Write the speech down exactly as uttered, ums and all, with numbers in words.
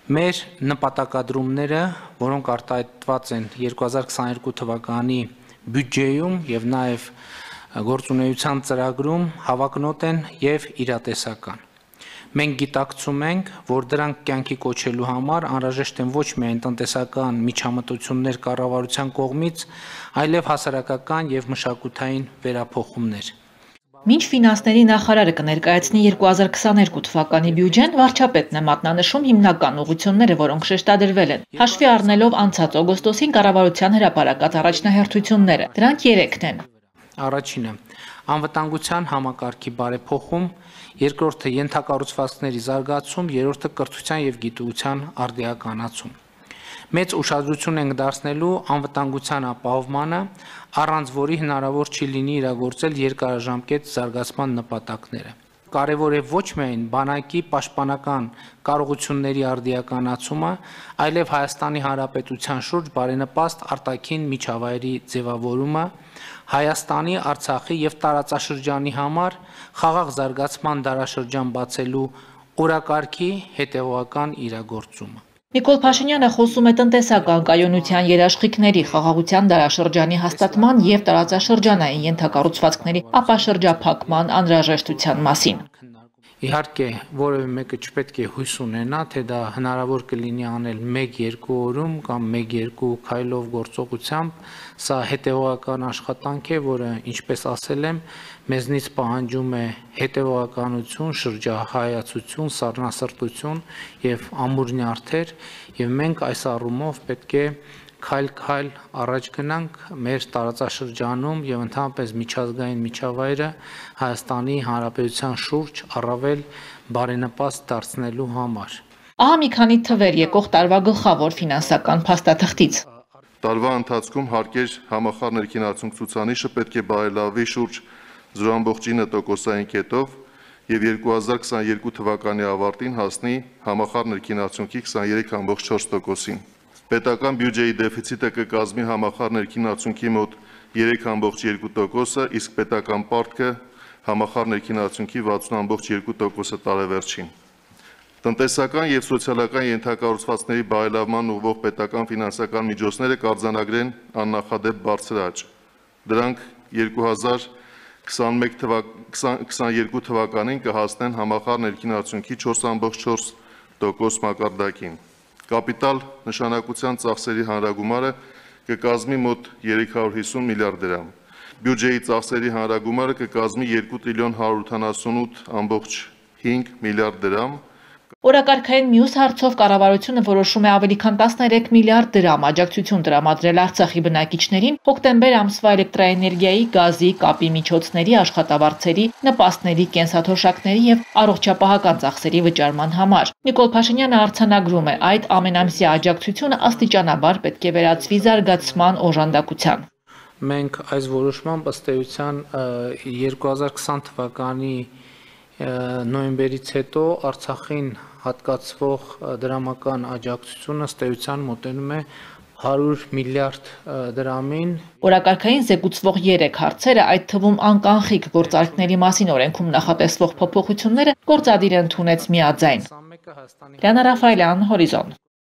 Մեր նպատակադրումները, որոնք արտահայտված են երկու հազար քսաներկու թվականի բյուջեում եւ նաեւ գործունեության ծրագրում հավակնոտ են եւ իրատեսական։ Մենք գիտակցում ենք, որ դրանք կյանքի կոչելու համար անհրաժեշտ են ոչ միայն տնտեսական միջամտություններ կառավարության կողմից, այլև հասարակական եւ մշակութային վերափոխումներ։ Մինչ ֆինանսների նախարարը կներկայացնի երկու հազար քսաներկու թվականի բյուջեն, վարչապետն է մատնանշում հիմնական ուղղությունները, որոնք շեշտադրվել են, հաշվի առնելով անցած օգոստոսին կառավարության հրապարակած առաջնահերթությունները։ Դրանք երեքն են։ Առաջինը անվտանգության համակարգի բարեփոխում, երկրորդը ենթակառուցվածքների զարգացում, երրորդը կրթության եւ գիտության արդիականացում։ Մեծ ուշադրություն ենք դարձնելու անվտանգության ապահովմանը, առանց որի հնարավոր չի լինի իրագործել երկարաժամկետ զարգացման նպատակները։ Կարևոր է ոչ միայն բանակի պաշտպանական կարողությունների արդիականացումը, այլև Հայաստանի Հանրապետության շուրջ բարենպաստ արտաքին միջավայրի ձևավորումը, Հայաստանի, Արցախի եւ տարածաշրջանի համար խաղաղ զարգացման դարաշրջան բացելու օրակարգի հետեւողական իրագործումը։ Նիկոլ Փաշինյանը խոսում է տնտեսական կայունության երաշխիքների, խաղաղության դարաշրջանի հաստատման եւ տարածաշրջանային ենթակառուցվածքների ապաշրջափակման անհրաժեշտության մասին։ Իհարկե, որևէ մեկը չպետք է հույս ունենա, թե դա հնարավոր կլինի անել մեկ-երկու օրում կամ մեկ-երկու քայլով գործողությամբ, սա հետևողական աշխատանք է, որը, ինչպես ասել եմ, մեզնից պահանջում է հետևողականություն, շրջահայացություն, սառնասրտություն եւ ամուր նյարդեր, եւ մենք այս առումով պետք է քայլ-քայլ առաջ գնանք մեր տարածաշրջանում եւ ընդհանրապես միջազգային միջավայրը Հայաստանի Հանրապետության շուրջ առավել բարենպաստ դարձնելու համար։ Ահա մի քանի թվեր եկող տարվա գլխավոր ֆինանսական փաստաթղթից։ Տարվա ընթացքում հարկեր համախառն ներքին արդյունք ցուցանիշը պետք է բարելավի շուրջ զրո ամբողջ ինը տոկոսային կետով եւ երկու հազար քսաներկու թվականի ավարտին հասնի համախառն ներքին արդյունքի քսաներեք ամբողջ չորս տոկոսին։ Պետական բյուջեի դեֆիցիտը կկազմի համախառն ներքին արդյունքի մոտ երեք ամբողջ երկու տոկոսը, իսկ պետական պարտքը համախառն ներքին արդյունքի վաթսուն ամբողջ երկու տոկոսը տարեվերջին։ Տնտեսական եւ սոցիալական ենթակառուցվածքների բարելավման ուղղվող պետական ֆինանսական միջոցները կարձանագրեն աննախադեպ բարձր աճ։ Դրանք երկու հազար քսաներկու թվականին կհասնեն համախառն ներքին արդյունքի չորս ամբողջ չորս տոկոս մակարդակին։ Կապիտալ նշանակության ծախսերի հանրագումարը կկազմի մոտ երեք հարյուր հիսուն միլիարդ դրամ։ Բյուջեի ծախսերի հանրագումարը կկազմի երկու տրիլիոն հարյուր ութանասունութ ամբողջ հինգ միլիարդ դրամ։ Օրակարգային մյուս հարցով կառավարությունը որոշում է ավելի քան տասներեք միլիարդ դրամ աջակցություն տրամադրել Արցախի բնակիչներին հոկտեմբեր ամսվա էլեկտրաէներգիայի, գազի, կապի միջոցների, աշխատավարձերի, նպաստների, կենսաթոշակների եւ առողջապահական ծախսերի վճարման համար։ Նիկոլ Փաշինյանը արձանագրում է, այդ ամենամսյա աջակցությունը աստիճանաբար պետք է վերածվի զարգացման օժանդակության։ Մենք այս որոշմամբ ըստ էության երկու հազար քսան թվականի նոյեմբերից հետո Արցախին հատկացվող դրամական աջակցությունը ըստ էության մոտենում է հարյուր միլիարդ դրամին։ Օրակարգային զեկուցվող երեք հարցերը, այդ թվում անկանխիկ գործարքների մասին օրենքում նախատեսվող փոփոխությունները գործադիր ընդունեց միաձայն։ Լիանա Ռաֆայելյան, Հորիզոն։